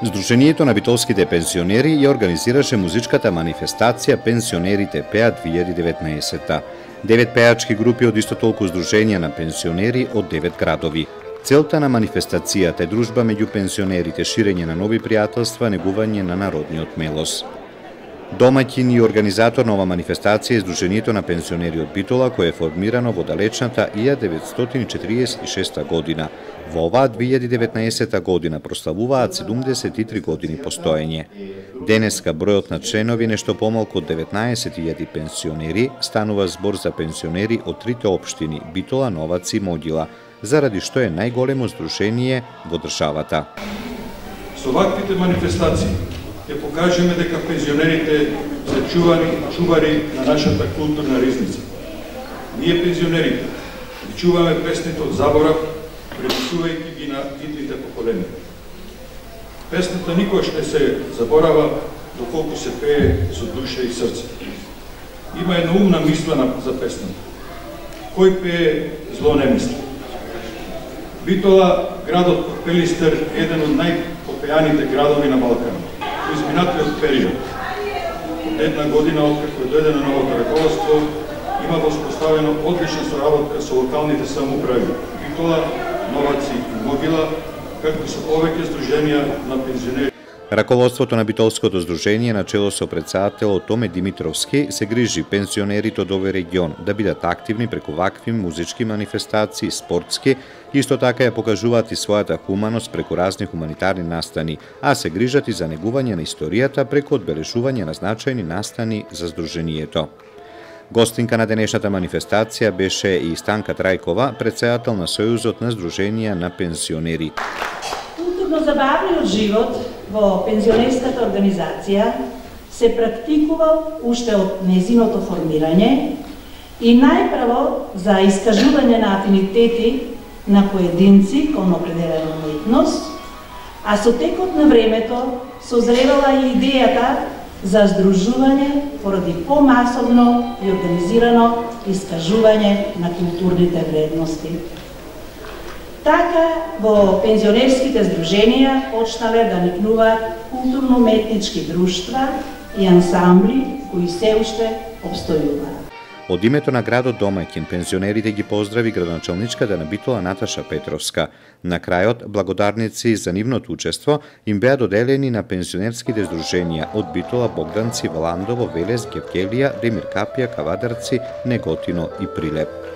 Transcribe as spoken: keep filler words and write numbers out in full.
Сдруженијето на битолските пензионери ја организираше музичката манифестација Пензионерите пеат две илјади и деветнаесетта. Девет пеачки групи од исто толку сдруженија на пензионери од девет градови. Целта на манифестацијата е дружба меѓу пензионерите, ширење на нови пријателства, негување на народниот мелос. Домаќин и организатор на ова манифестација е Сдруженијето на пензионери од Битола, кое е формирано во далечната илјада деветстотини четиридесет и шеста година. Во оваа две илјади и деветнаесетта година прославуваат седумдесет и три години постоење. Денеска бројот на членови нешто помалку од деветнаесет илјади пензионери, станува збор за пензионери од трите општини Битола, Новац и Могила, заради што е најголемо сдружение во државата. Со ваквите манифестации ќе покажеме дека пензионерите се чувани чувари на нашата културна ризница. Ние пензионерите ги чуваме песните од заборав, преписувајќи ги на идните поколенија. Песната никогаш не се заборава доколку се пее со душа и срце. Има една умна мисла за песната. Кој пее, зло не мисли. Битола, градот под Пелистер, е еден од најпопеаните градови на Балканот. Во изминатиот период, од една година откако дојде на новото раководство, има воспоставено одлична соработка со локалните самоуправи Битола, Новац и Могила, както и со повеќе сдруженија на пензионери. Раководството на Битолското сдружение на чело со претседателот Томе Димитровски се грижи пензионерите од овој регион да бидат активни преку вакви музички манифестации, спортски, исто така ја покажуваат и својата хуманост преку разни хуманитарни настани, а се грижат и за негување на историјата преку одбележување на значајни настани за сдруженијето. Гостинка на денешната манифестација беше и Станка Трајкова, претседател на Сојузот на сдруженија на пензионери. Културно-забавниот живот во пензионерската организација се практикувал уште од незиното формирање и најпрво за искажување на афинитети на поединци кон определена уметност, а со текот на времето созревала и идејата за здружување поради помасовно и организирано искажување на културните вредности. Така, во пензионерските сдруженија почнале да никнуваат културно-уметнички друштва и ансамбли кои се уште обстојуваат. Од името на градот домаќин, пензионерите ги поздрави градоначалничката на Битола Наташа Петровска. На крајот, благодарници за нивното учество им беа доделени на пензионерските сдруженија од Битола, Богданци, Валандово, Велес, Гевгелија, Ремир Капија, Кавадарци, Неготино и Прилеп.